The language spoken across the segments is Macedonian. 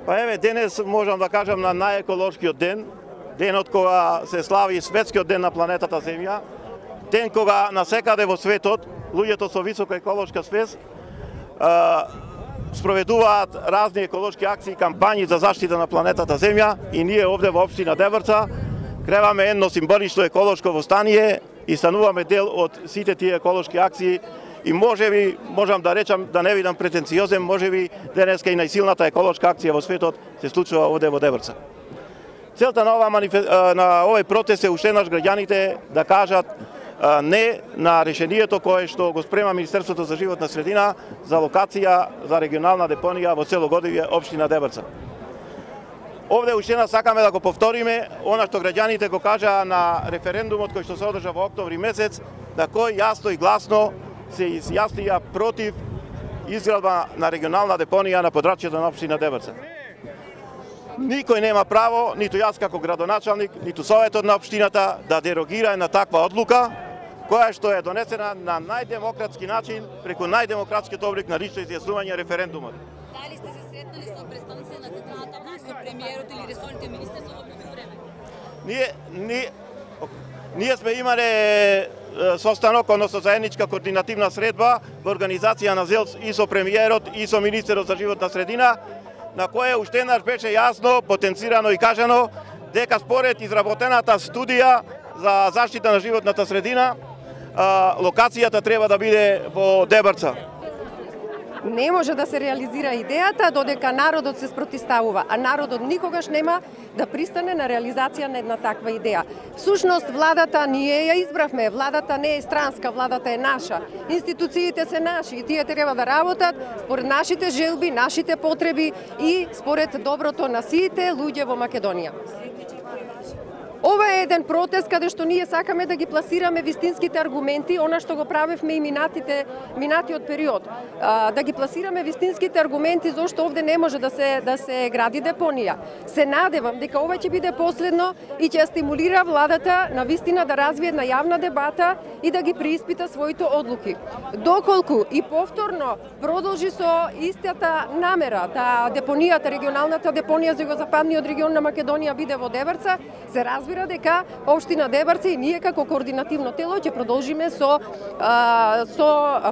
Па еве, денес можам да кажам на најеколошкиот ден, денот кога се слави светскиот ден на планетата Земја, ден кога насекаде во светот луѓето со висока еколошка свест спроведуваат разни еколошки акции и кампањи за заштита на планетата Земја, и ние овде во општина Дебрца креваме едно символично еколошко востание и стануваме дел од сите тие еколошки акции. И можам да речам, да не видам претенциозен, можеби денеска и најсилната еколошка акција во светот се случува овде во Дебрца. Целта на овој протест е уште наш граѓаните да кажат не на решението кое што го спрема Министерството за животна средина за локација за регионална депонија во Целогодивје, општина Дебрца. Овде уште сакаме да го повториме она што граѓаните го кажаа на референдумот кој што се одржа во октомври месец, да кој јасно и гласно се изјаснија против изградба на регионална депонија на подрачјето на општина Дебрца. Никој нема право, ниту јас како градоначалник, ниту советот на општината да дерогира на таква одлука, која што е донесена на најдемократски начин, преку најдемократскиот облик на лично изјаснување референдумот. Дали сте се сретнали со представници на централната власт, со премиерот или ресорните министри за овој време? Ние сме имале состанок, односно заедничка координативна средба во организација на ЗЕЛС и со премиерот и со министерот за животна средина, на кое уште еднаш беше јасно, потенцирано и кажано дека според изработената студија за заштита на животната средина, локацијата треба да биде во Дебрца. Не може да се реализира идејата додека народот се спротивставува, а народот никогаш нема да пристане на реализација на една таква идеја. Всушност, владата ние ја избравме, владата не е странска, владата е наша. Институциите се наши и тие треба да работат според нашите желби, нашите потреби и според доброто на сите луѓе во Македонија. Ова е еден протест каде што ние сакаме да ги пласираме вистинските аргументи, она што го правевме и минатиот период. Да ги пласираме вистинските аргументи зашто овде не може да се гради депонија. Се надевам дека ова ќе биде последно и ќе стимулира владата на вистина да развие една јавна дебата и да ги преиспита своите одлуки. Доколку и повторно продолжи со истата намера да депонијата, регионалната депонија за југозападниот регион на Македонија биде во Дебрца, се разбира дека општина Дебрца и ние како координативно тело ќе продолжиме со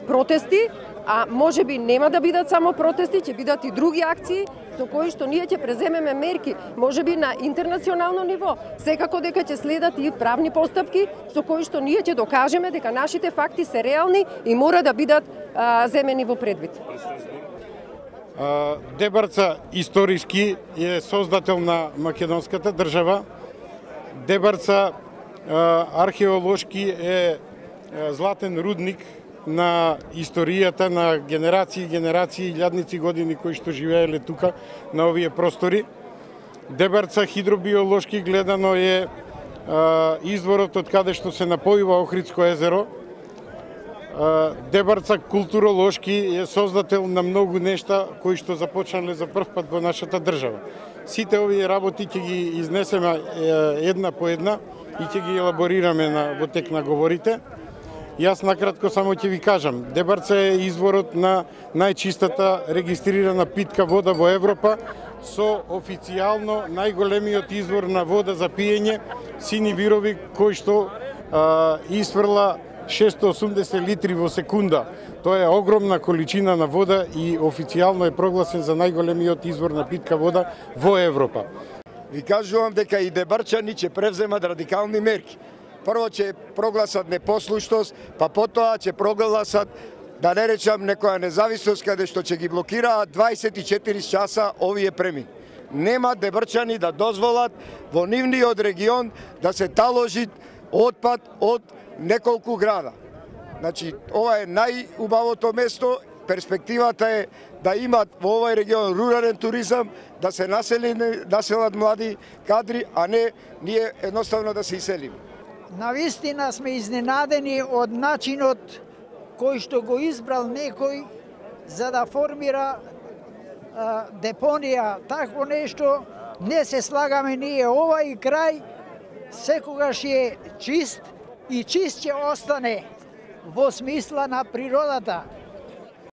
протести, а можеби нема да бидат само протести, ќе бидат и други акции со кои што ние ќе преземеме мерки, можеби на интернационално ниво. Секако дека ќе следат и правни постапки со кои што ние ќе докажеме дека нашите факти се реални и мора да бидат земени во предвид. Дебрца историски е создател на македонската држава. Дебрца археолошки е златен рудник на историјата на генерации и генерации, илјадници години кои што живееле тука на овие простори. Дебрца хидробиолошки гледано е изворот од каде што се напојува Охридско езеро. Дебрца културолошки е создател на многу нешта кои што започнале за прв пат во нашата држава. Сите овие работи ќе ги изнесеме една по една и ќе ги елаборираме во тек на говорите. Јас накратко само ќе ви кажам, Дебрца е изворот на најчистата регистрирана питка вода во Европа, со официјално најголемиот извор на вода за пиење, Сини Вирови, кој што исфрла 680 литри во секунда. Тоа е огромна количина на вода и официјално е прогласен за најголемиот извор на питка вода во Европа. Ви кажувам дека и дебрчани ќе превземат радикални мерки. Прво ќе прогласат непослушност, па потоа ќе прогласат, да не речам, некоја независност каде што ќе ги блокираат 24 часа овие премини. Нема дебрчани да дозволат во нивниот регион да се таложи отпад од неколку града. Значи, ова е најубавото место, перспективата е да имат во овој регион рурален туризам, да се населат млади кадри, а не ние едноставно да се иселиме. Навистина сме изненадени од начинот кој што го избрал некој за да формира депонија. Такво нешто не се слагаме ние. Овај крај секогаш е чист и чист ќе остане во смисла на природата.